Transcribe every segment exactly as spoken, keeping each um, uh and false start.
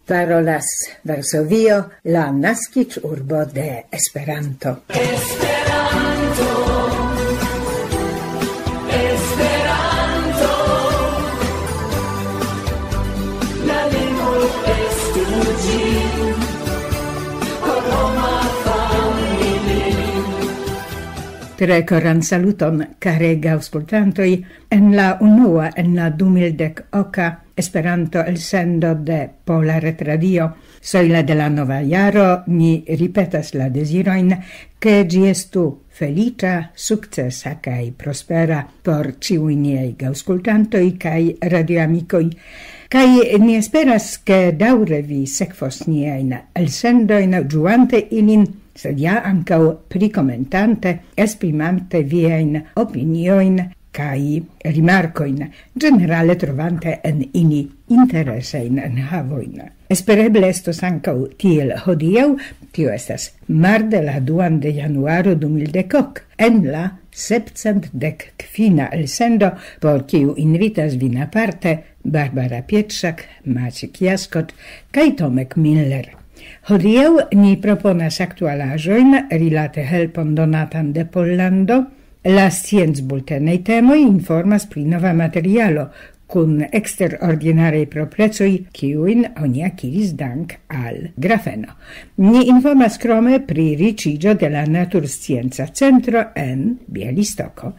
Parolas Varsovio, la naskiĝurbo de Esperanto. Esperanto, Esperanto, la lingvo estu ĝi, por homa familio. Tre koran saluton, karega aŭskultantoj, en la unua, en la du mil dek oka Esperanto-elsendo de Pola Retradio. Soila de la nova jaro, ni ripetas la dezirojn, ke ĝi estu feliĉa, sukcesa kaj prospera por ĉiuj niaj aŭskultantoj kaj radioamikoj. Kaj ni esperas, ke daŭre vi sekvos niajn elsendojn, ĝuante ilin, sed ja ankaŭ prikomentante, esprimante viajn opiniojn kaj rimarkojn, ĝenerale trovante en ili interesajn enhavojn. Espereble estos ankaŭ tiel hodiaŭ, tio estas marde la duan de januaro du mil dek ok, en la sepcent dek kvina elsendo, por kiu invitas vin aparte Barbara Pietrzak, Maciek Jaskot kaj Tomek Miller. Hodiaŭ ni proponas aktualaĵojn rilate helpon donatan de Pollando. La sciencbultenaj temoj informas pri nova materialo kun eksterordinaraj proprecoj, kiujn oni akiris dank al grafeno. Ni informas krome pri riĉiĝo de la Naturscienca Centro en Bialystoko.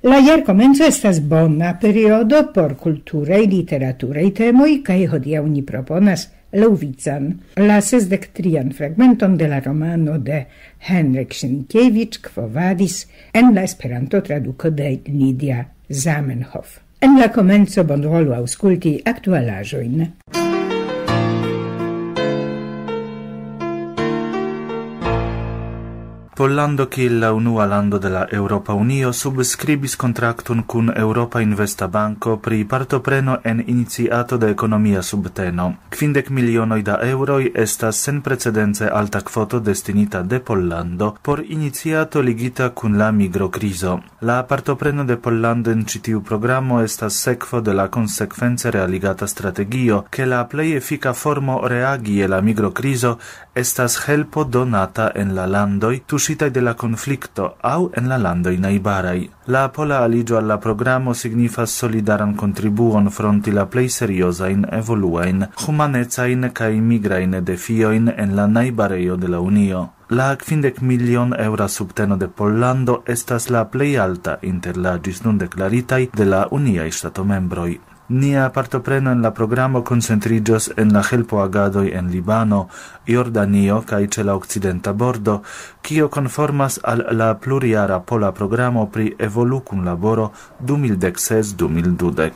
La jarkomenco estas bona periodo por kulturaj, literaturaj temoj, kaj hodiaŭ ni proponas laŭvican, la sesdek trian fragmenton de la romano de Henryk Sienkiewicz, Quo Vadis, en la Esperanto-traduko de Lidia Zamenhof. En la komenco bonvolu aŭskulti aktualaĵojn. Pollando kiel la unua lando de la Eŭropa Unio subskribis kontrakton kun Eŭropa Investa Banko pri partopreno en iniciato de ekonomia subteno. Kvindek milionoj da eŭroj estas senprecedence alta kvoto destinita de Pollando por iniciato ligita kun la migrokrizo. La partopreno de Pollando en ĉi tiu programo estas sekvo de la konsekvence realigata strategio, ke la plej efika formo reagi je la migrokrizo estas helpo donata en la landoj tuŝitaj de la konflikto aŭ en la landoj najbaraj. La pola aliĝo al la programo signifas solidaran kontribuon fronti la plej seriozajn evoluajn, humanecajn kaj migrajn defiojn en la najbarejo de la Unio. La kvindek milion eŭra subteno de Pollando estas la plej alta inter la ĝis nun deklaritaj de la uniaj ŝtatomembroj. Nia partopreno en la programo koncentriĝos en la helpoagadoj en Libano, Jordanio kaj ĉe la okcidenta bordo, kio konformas al la plurjara pola programo pri evolukunlaboro du mil dek ses du mil dudek.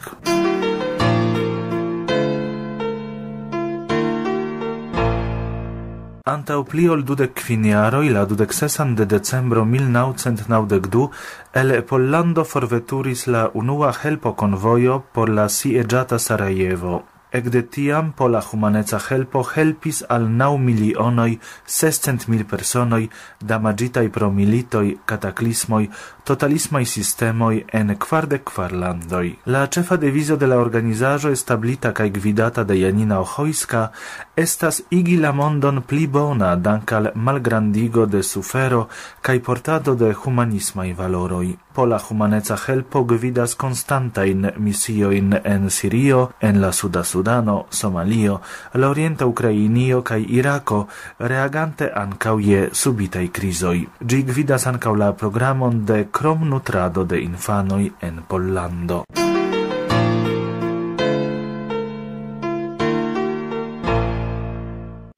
Antaŭ pli ol dudek kvin jaroj, la dudek sesan de decembro mil naŭcent naŭdek du, el Pollando forveturis la unua helpokonvojo por la sieĝata Sarajevo. Ekde tiam pola humaneca helpo helpis al naŭ milionoj sescent mil personoj damaĝitaj pro militoj, kataklismoj, totalismaj sistemoj en kvardek kvar landoj. La ĉefa devizo de la organizaĵo, establita kaj gvidata de Janina Ochojska, estas igi la mondon pli bona dank al malgrandigo de sufero kaj portado de humanismaj valoroj. Pola humaneca helpo gvidas konstantajn misiojn en Sirio, en la Suda Sudano, Somalio, la Orienta Ukrainio kaj Irako, reagante ankaŭ je subitaj krizoj. Ĝi gvidas ankaŭ la programon de kromnutrado de infanoj en Pollando.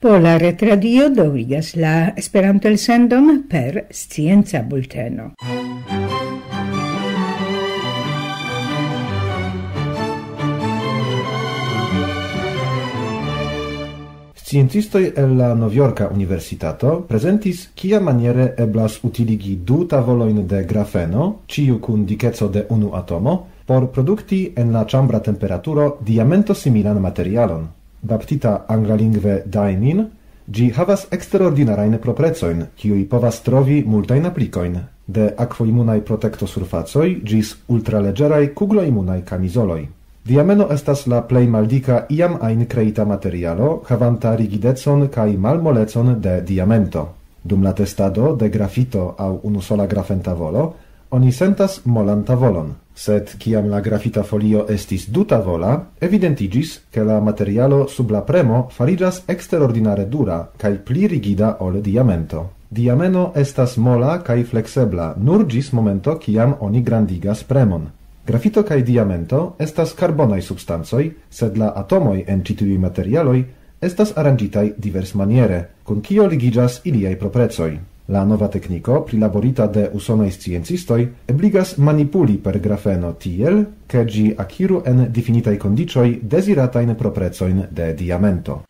Pola Retradio daŭrigas la Esperanto-elsendon per scienca bulteno. Sciencistoj el la Novjorka Universitato prezentis, kiamaniere eblas utiligi du tavolojn de grafeno, ĉiu kun dikeco de unu atomo, por produkti en la ĉambra temperaturo diamento-similan materialon. Baptita anglalingve diamine, ĝi havas eksterordinarajn proprecojn, kiuj povas trovi multajn aplikojn, de akvoimunaj protektosurfacoj ĝis ultraleĝeraj kugloimunaj kamizoloj. Diameno estas la plej maldika iam ajn kreita materialo, havanta rigidecon kaj malmolecon de diamento. Dum la testado de grafito aŭ unusola grafentavolo, oni sentas molan tavolon. Sed kiam la grafita folio estis dutavola, evidentiĝis, ke la materialo sub la premo fariĝas eksterordinare dura kaj pli rigida ol diamento. Diameno estas mola kaj fleksebla nur ĝis momento, kiam oni grandigas premon. Grafito kaj diamento estas karbonaj substancoj, sed la atomoj en ĉi tiuj materialoj estas aranĝitaj diversmaniere, kun kio ligiĝas iliaj proprecoj. La nova tekniko, prilaborita de usonaj sciencistoj, ebligas manipuli per grafeno tiel, ke ĝi akiru en difinitaj kondiĉoj deziratajn proprecojn de diamento.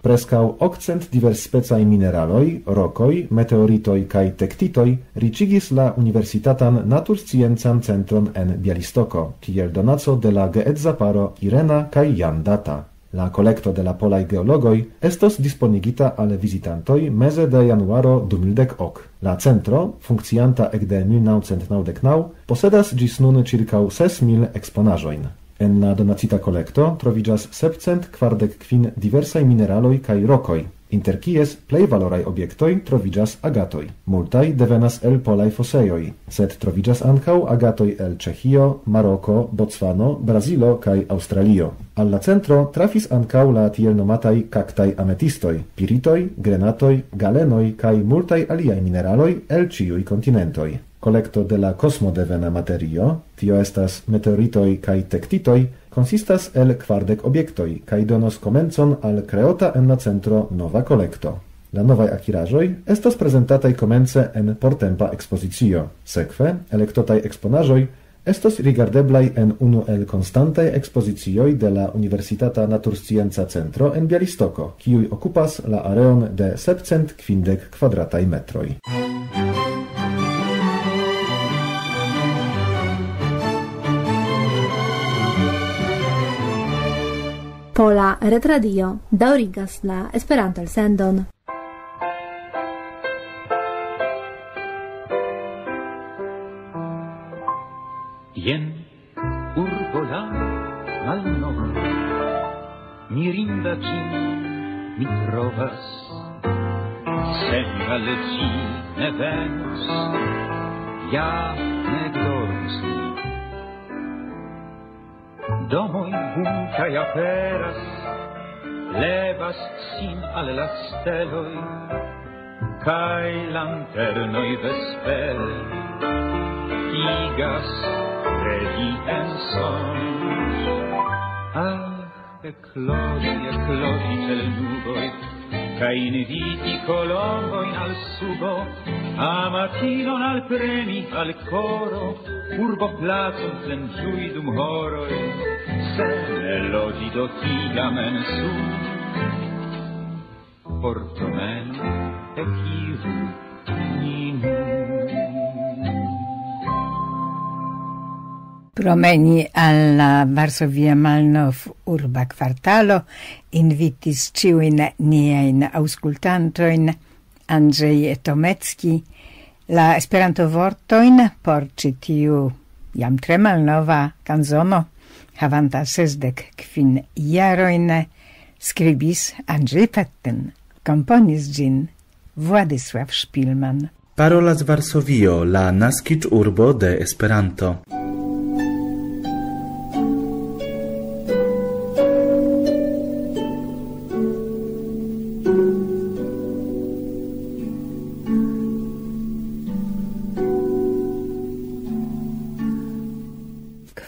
Preskaŭ okcent diversspecaj mineraloj, rokoj, meteoritoj kaj tektitoj riĉigis la Universitatan Natursciencan Centron en Bialistoko, kiel donaco de la geedza paro Irena kaj Jan Data. La kolekto de la polaj geologoj estos disponigita al vizitantoj meze de januaro du mil dek ok. La centro, funkcianta ekde mil naŭcent naŭdek naŭ, posedas ĝis nun ĉirkaŭ ses mil eksponaĵojn. En la donacita kolekto troviĝas sepcent kvardek kvin diversaj mineraloj kaj rokoj, inter kies plej valoraj objektoj troviĝas agatoj. Multaj devenas el polaj fosejoj, sed troviĝas ankaŭ agatoj el Ĉeĥio, Maroko, Bocvano, Brazilo kaj Aŭstralio. Al la centro trafis ankaŭ la tiel nomataj kaktaj ametistoj, piritoj, grenatoj, galenoj kaj multaj aliaj mineraloj el ĉiuj kontinentoj. Kolekto de la kosmo devena materio, tio estas meteoritoj kaj tektitoj, konsistas el kvardek objektoj kaj donos komencon al kreota en la centro nova kolekto. La novaj akiraĵoj estos prezentataj komence en portempa ekspozicio. Sekve, elektotaj eksponaĵoj estos rigardeblaj en unu el konstantaj ekspozicioj de la Universitata Naturscienca Centro en Bialistoko, kiuj okupas la areon de sepcent kvindek kvadrataj metroj. Pola Retradio daŭrigas la Esperanto-elsendon. Jen urbo la malnova, mirinda ĝin mi trovas. Se mi al ĝi ne venos, ja ne dormus mi. Domoj bulkaj aperas, levas sin al la steloj, kaj lanternoj vespere igas kredi en sonĝ. Ah, ekloĝi, ekloĝi ĉe l' nuboj, kaj inviti kolombojn al subo, amatinon alpremi al koro, urboplacon plenĝui dum horoj, se ne loĝi do tiam en sub. Por promeno ekiru ni nun. Promeni al la Varsovia Malnov urba kvartalo invitis ĉiujn niajn aŭskultantojn Andrzej Tomecki. La Esperanto-vortojn por ĉi tiu jam tre malnova kanzono, havanta sesdek kvin jarojn, skribis Andrzej Petten, komponis ĝin Władysław Szpilman. Parolas Varsovio, la naskiĝurbo de Esperanto.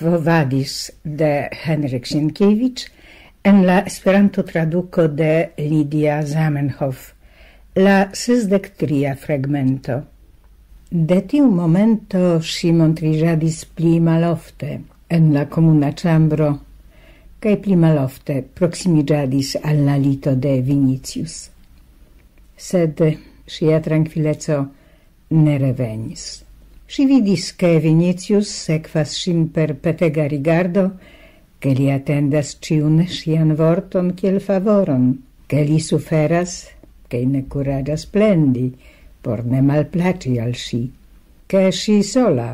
Quo Vadis de Henryk Sienkiewicz en la Esperanto-traduko de Lidia Zamenhof, la sesdek tria fragmento. De tiu momento ŝi montriĝadis pli malofte en la komuna ĉambro, kaj pli malofte proksimiĝadis al la lito de Vinicius. Sed ŝia trankvileco ne revenis. Ŝi vidis, ke Vinicius sekvas ŝin per petega rigardo, ke li atendas ĉiun ŝian vorton kiel favoron, ke li suferas, kaj ne kuraĝas plendi, por ne malplaĉi al ŝi. Ke ŝi sola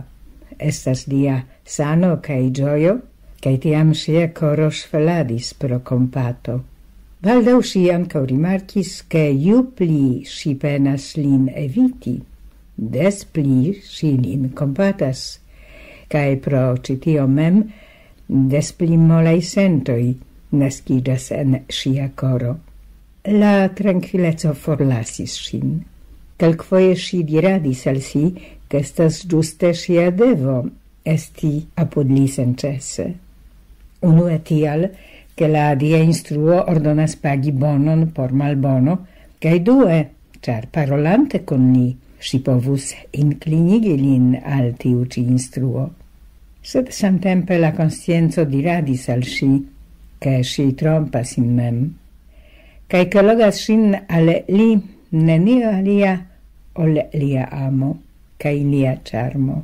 estas lia sano kaj ĝojo, kaj tiam ŝia koro ŝveladis pro kompato. Baldaŭ ŝi ankaŭ rimarkis, ke ju pli ŝi penas lin eviti, des pli ŝi lin kompatas, kaj pro ĉi tio mem des pli molaj sentoj naskiĝas en ŝia koro. La trankvileco forlasis ŝin. Kelkfoje ŝi diradis al si, ke estas ĝuste ŝia devo esti apud li senĉese. Unue tial, ke la dia instruo ordonas pagi bonon por malbono, kaj due, ĉar parolante kun li, ŝi povus inklinigi lin al tiu ĉi instruo. Sed samtempe la konscienco diradis al ŝi, ke ŝi trompas sin mem, kaj ke logas ŝin al li nenio alia ol lia amo kaj lia ĉarmo.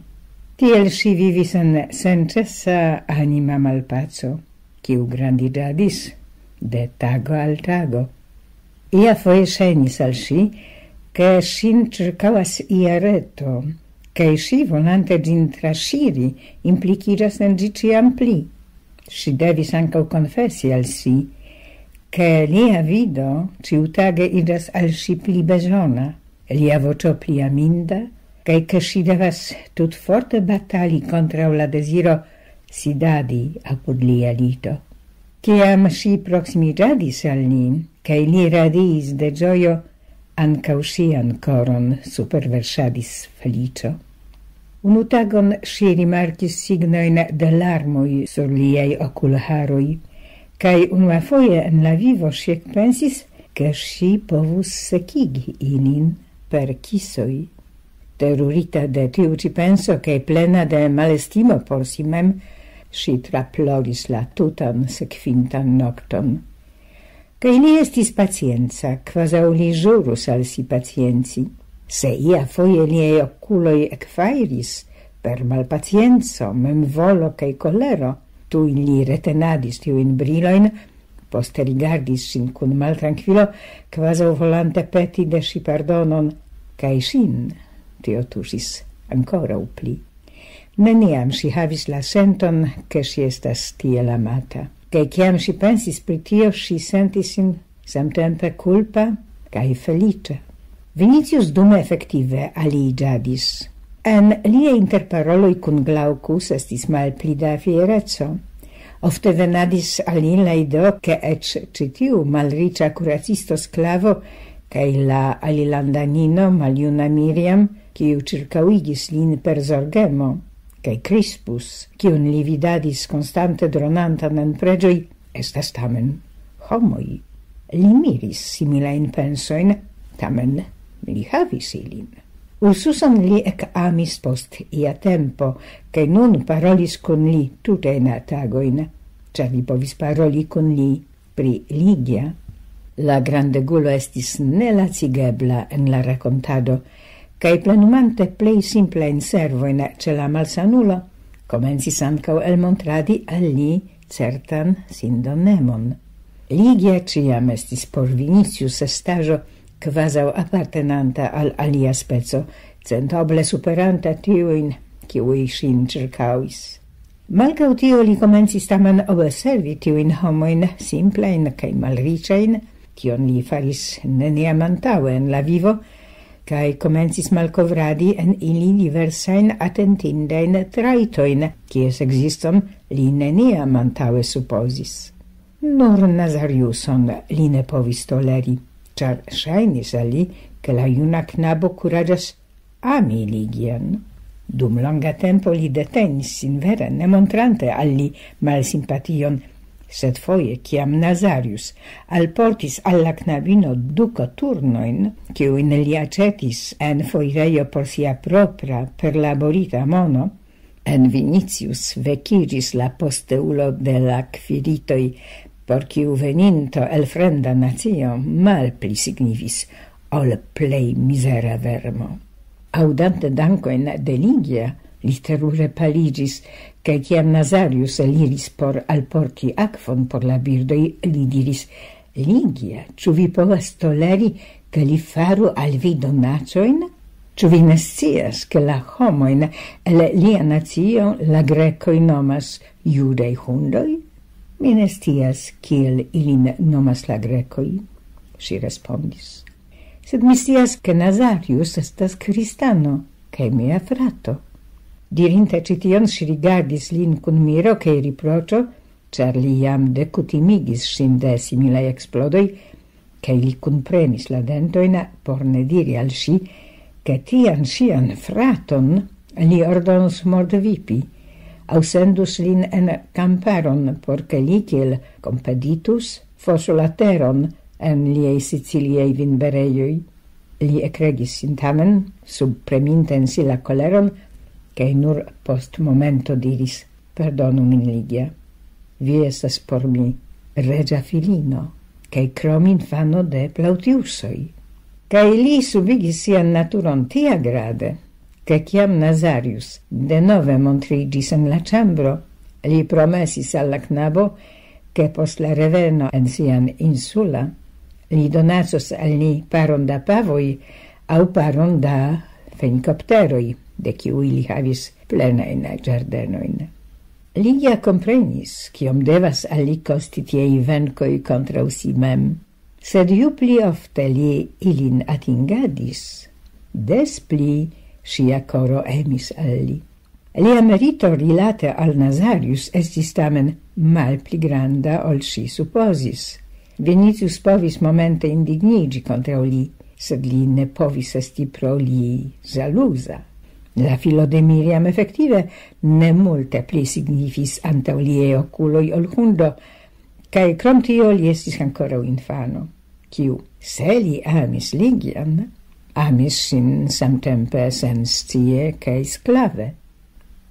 Tiel ŝi vivis en senĉesa anima malpaco, kiu grandiĝadis de tago al tago. Ia foje ŝajnis al ŝi, ke ŝin ĉirkaŭas ia reto, kaj ŝi, volante ĝin traŝiri, implikiĝas en ĝi ĉiam pli. Ŝi devis ankaŭ konfesi al si, ke lia vido ĉiutage iĝas al ŝi pli bezona, lia voĉo pli aminda, kaj ke ŝi devas tutforte batali kontraŭ la deziro sidadi apud lia lito. Kiam ŝi proksimiĝadis al li, kaj li radiis de ĝojo, ankaŭ ŝian koron superverŝadis feliĉo. Unu tagon ŝi rimarkis signojn de larmoj sur liaj okulharoj, kaj unuafoje en la vivo ŝi ekpensis, ke ŝi povus sekigi ilin per kisoj. Terurita de tiu ĉi penso kaj plena de malestimo por si mem, ŝi traploris la tutan sekvintan nokton. Kaj li estis pacienca, kvazaŭ li ĵurus al si pacienci. Se ia foje liaj okuloj ekfajris per malpacienco, memvolo kaj kolero, tuj li retenadis tiujn brilojn, poste rigardis ŝin kun maltrankvilo, kvazaŭ volante peti de ŝi pardonon, kaj ŝin tio tuŝis ankoraŭ pli. Neniam ŝi havis la senton, ke ŝi estas tiel amata. Kaj kiam ŝi pensis pri tio, ŝi sentis sin samtempe kulpa kaj feliĉa. Vinicius dume efektive aliĝadis. En liaj interparoloj kun Glaucus estis malpli da fiereco. Ofte venadis al li la ideo, ke eĉ ĉi tiu malriĉa kuracisto sklavo kaj la alilandanino maljuna Miriam, kiu ĉirkaŭigis lin per zorgemo, kaj Crispus, kiun li vidadis konstante dronantan en preĝoj, estas tamen homoj. Li miris similajn pensojn, tamen li havis ilin. Ursuson li ekamis post ia tempo, kaj nun parolis kun li tutajn tagojn, ĉar li povis paroli kun li pri Ligia. La grandegulo estis nelacigebla en la rakontado, kaj plenumante plej simplajn servojn ĉe la malsanulo, komencis ankaŭ elmontradi al li certan sindonemon. Ligia ĉiam estis por Vinicius estaĵo kvazaŭ apartenanta al alia speco, centoble superanta tiujn, kiuj ŝin ĉirkaŭis. Malgraŭ tio li komencis tamen observi tiujn homojn simplajn kaj malriĉajn, kion li faris neniam antaŭe en la vivo, kaj komencis malkovradi en ili diversajn atentindajn trajtojn, kies ekziston li neniam antaŭe supozis. Nur Nazariuson li ne povis toleri, ĉar ŝajnis al li, ke la juna knabo kuraĝas ami Ligian. Dum longa tempo li detenis sin vere, ne montrante al li malsimpation, sed foje, kiam Nazarius alportis al la knabino du koturnojn, kiujn li aĉetis en foirejo por sia propra perlaborita mono, en Vinicius vekiĝis la posteulo de la kviritoj, por kiu veninto el fremda nacio malpli signifis ol plej mizera vermo. Aŭdante dankojn de Ligia, li terure paliĝis, kaj kiam Nazarius eliris por alporti akvon por la birdoj, li diris: Ligia, ĉu vi povas toleri, ke li faru al vi donacojn? Ĉu vi ne scias, ke la homojn el lia nacio la grekoj nomas judaj hundoj? Mi ne scias, kiel ilin nomas la grekoj, ŝi respondis. Sed mi scias, ke Nazarius estas kristano, kaj mia frato. Dirinte ĉi tion, ŝi rigardis lin kun miro kaj riproĉo, ĉar li jam dekutimigis ŝin de similaj eksplodoj, kaj li kunpremis la dentojn por ne diri al ŝi, ke tian ŝian fraton li ordonos mordvipi, aŭ sendus lin en kamparon, por ke li kiel kompeditus fosu la teron en liaj siciliaj vinberejoj. Li ekregis sin tamen, subpreminte en si la koleron, kaj nur post momento diris: "Pardonu min, Ligia. Vi estas por mi reĝa filino, kaj krom infano de Plautiusoj." Kaj li subigis sian naturon tiagrade, ke kiam Nazarius denove montriĝis en la ĉambro, li promesis al la knabo, ke post la reveno en sian insula, li donacos al ni paron da pavoj aŭ paron da fenikopteroj, de kiuj li havis plenajn ĝardenojn. Ligia komprenis, kiom devas al li kosti tiaj venkoj kontraŭ si mem. Sed ju pli ofte li ilin atingadis, des pli ŝia koro emis al li. Lia merito rilate al Nazarius estis tamen malpli granda, ol ŝi supozis. Vinicius povis momente indigniĝi kontraŭ li, sed li ne povis esti pro li ĵaluza. La filo de Miriam efektive ne multe pli signifis antaŭ liaj okuloj ol hundo, kaj krom tio li estis ankoraŭ infano, kiu, se li amis Ligian, amis ŝin samtempe senscie kaj sklave.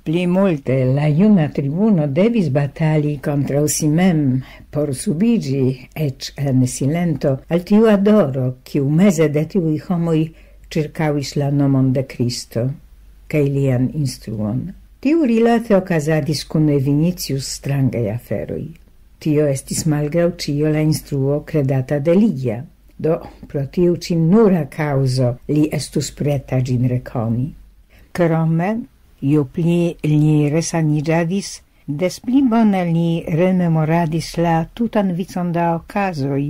Pli multe la juna tribuno devis batali kontraŭ si mem por subiĝi, eĉ en silento, al tiu adoro, kiu meze de tiuj homoj ĉirkaŭis la nomon de Kristo kaj lian instruon. Tiu rilate okazadis kun Vinicius strangaj aferoj. Tio estis malgraŭ ĉio la instruo kredata de Ligia. Do, pro tiu ĉi nura kaŭzo li estus preta ĝin rekoni. Krome, ju pli li resaniĝadis, des pli bone li rememoradis la tutan vicon da okazoj,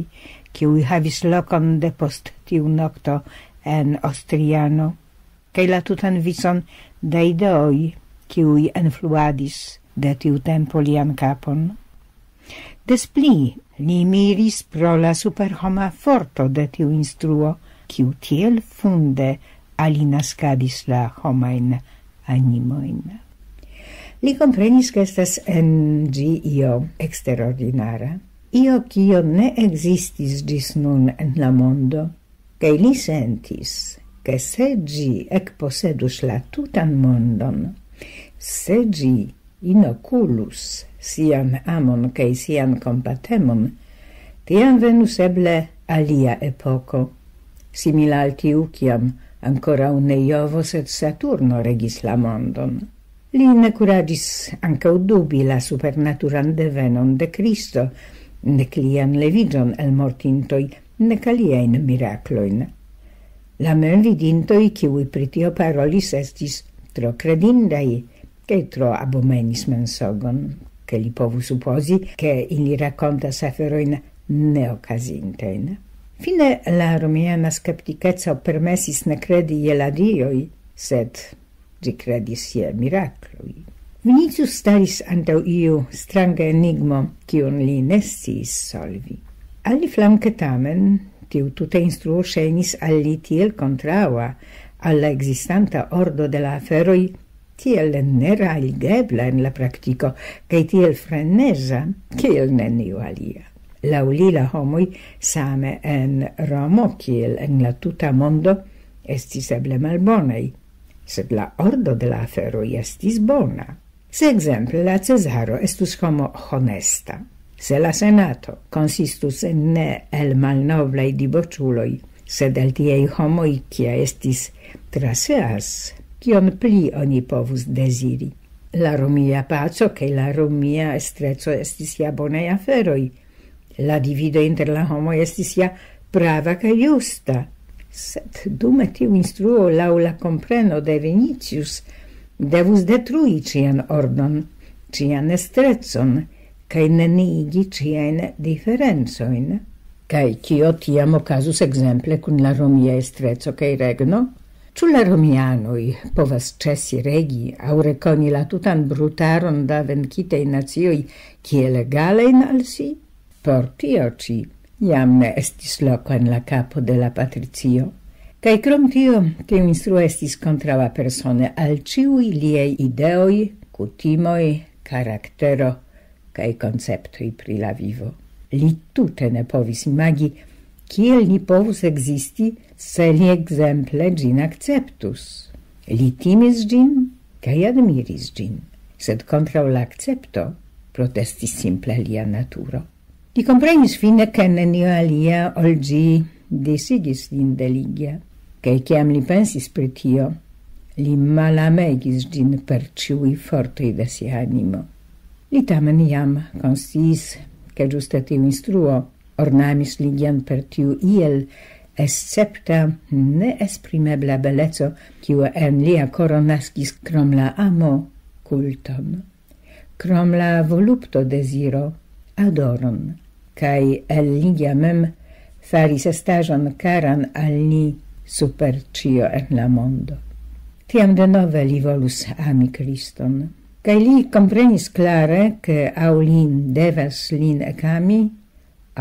kiuj havis lokon depost tiu nokto en Ostriano, kaj la tutan vicon da ideoj, kiuj enfluadis de tiu tempo lian kapon. Des pli li miris pro la superhoma forto de tiu instruo, kiu tiel funde alinaskadis la homajn animojn. Li komprenis, ke estas en ĝi io eksterordinara, io, kio ne ekzistis ĝis nun en la mondo, kaj li sentis, ke se ĝi ekposedus la tutan mondon, se ĝi inokulus sian amon kaj sian kompatemon, tiam venus eble alia epoko, simila al tiu, kiam ankoraŭ ne Jovo, sed Saturno regis la mondon. Li ne kuraĝis ankaŭ dubi la supernaturan devenon de Kristo, nek lian leviĝon el mortintoj, nek aliajn miraklojn. La memvidintoj, kiuj pri tio parolis, estis tro kredindaj, kaj tro abomenis mensogon, ke li povus supozi, ke ili rakontas aferojn neokazintajn. Fine la romiana skeptikeco permesis ne kredi je la dioj, sed ĝi kredis je mirakloj. Vinicius staris antaŭ iu stranga enigmo, kiun li ne sciis solvi. Aliflanke tamen, tiu tuta instruo ŝajnis al li tiel kontraŭa al la ekzistanta ordo de la aferoj, tiel nerealigebla en la praktiko, kaj tiel freneza, kiel neniu alia. Laŭ li la homoj same en Romo, kiel en la tuta mondo, estis eble malbonaj, sed la ordo de la aferoj estis bona. Se ekzemple la Cezaro estus homo honesta, se la Senato konsistus ne el malnoblaj diboĉuloj, sed el tiaj homoj, kia estis Traseas, kion pli oni povus deziri? La romia paco kaj la romia estreco estis ja bonaj aferoj, La divido inter la homoj estis ja prava kaj justa. Sed dume tiu instruo laŭ la kompreno de Vinicius devus detrui ĉian ordon, ĉian estrecon, kaj neniigi ĉiajn diferencojn. Kaj kio tiam okazus ekzemple kun la romia estreco kaj regno? Ĉu la romianoj povas ĉesi regi aŭ rekoni la tutan brutaron da venkitaj nacioj kiel egalajn al si? Por tio ĉi jam ne estis loko en la kapo de la patricio. Kaj krom tio, tiu instruo estis kontraŭa persone al ĉiuj liaj ideoj, kutimoj, karaktero kaj konceptoj pri la vivo. Li tute ne povis imagi, kiel li povus ekzisti, se li ekzemple ĝin akceptus. Li timis ĝin kaj admiris ĝin, sed kontraŭ la akcepto protestis simple lia naturo. Li komprenis fine, ke nenio alia ol ĝi disigis lin de Ligia, kaj kiam li pensis pri tio, li malamegis ĝin per ĉiuj fortoj de sia animo. Li tamen jam konsciis, ke ĝuste tiu instruo ornamis Ligian per tiu iel escepta, neesprimebla beleco, kiu en lia koro naskis krom la amo kulton, krom la volupto deziro, adoron, kaj el Ligia mem faris estaĵon karan al ni super ĉio en la mondo. Tiam denove li volus ami Kriston, kaj li komprenis klare, ke aŭ li devas lin ekami,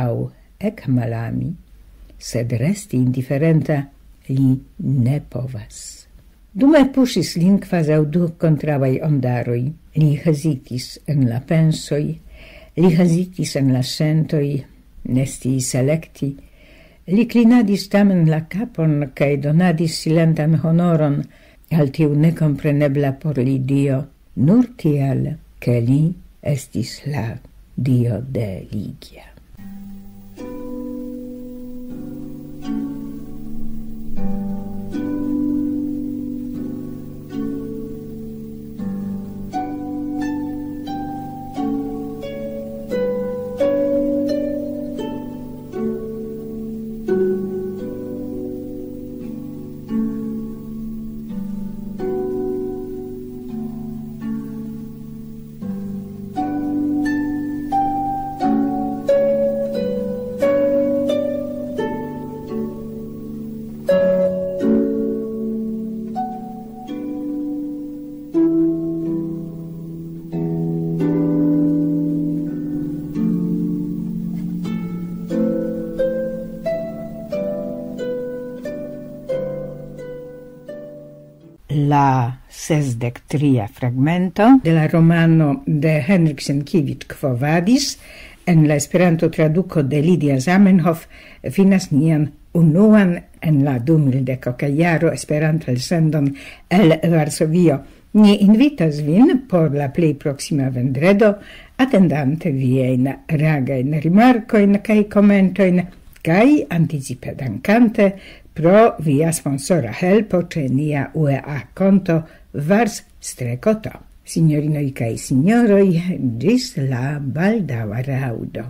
aŭ ekmalami, sed resti indiferenta li ne povas. Dume puŝis lin kvazaŭ du kontraŭaj ondaroj. Li hezitis en la pensoj, li hezitis en la sentoj, ne sciis elekti. Li klinadis tamen la kapon kaj donadis silentan honoron al tiu nekomprenebla por li dio, nur tiel, ke li estis la dio de Ligia. La sesdek tria fragmento de la romano de Henrik Sienkiewicz, Quo Vadis, en la Esperanto-traduko de Lidia Zamenhof, finas nian unuan en la du mil dek oka jaro Esperanto-elsendon el Varsovio. Ni invitas vin por la plej proksima vendredo, atendante viajn ragajn rimarkojn kaj komentojn, kaj anticipe dankante pro via sponsora helpo ĉe nia U E A konto Vars strekoto. Signorinoj kaj sinjoroj, ĝis la baldaŭa raŭdo.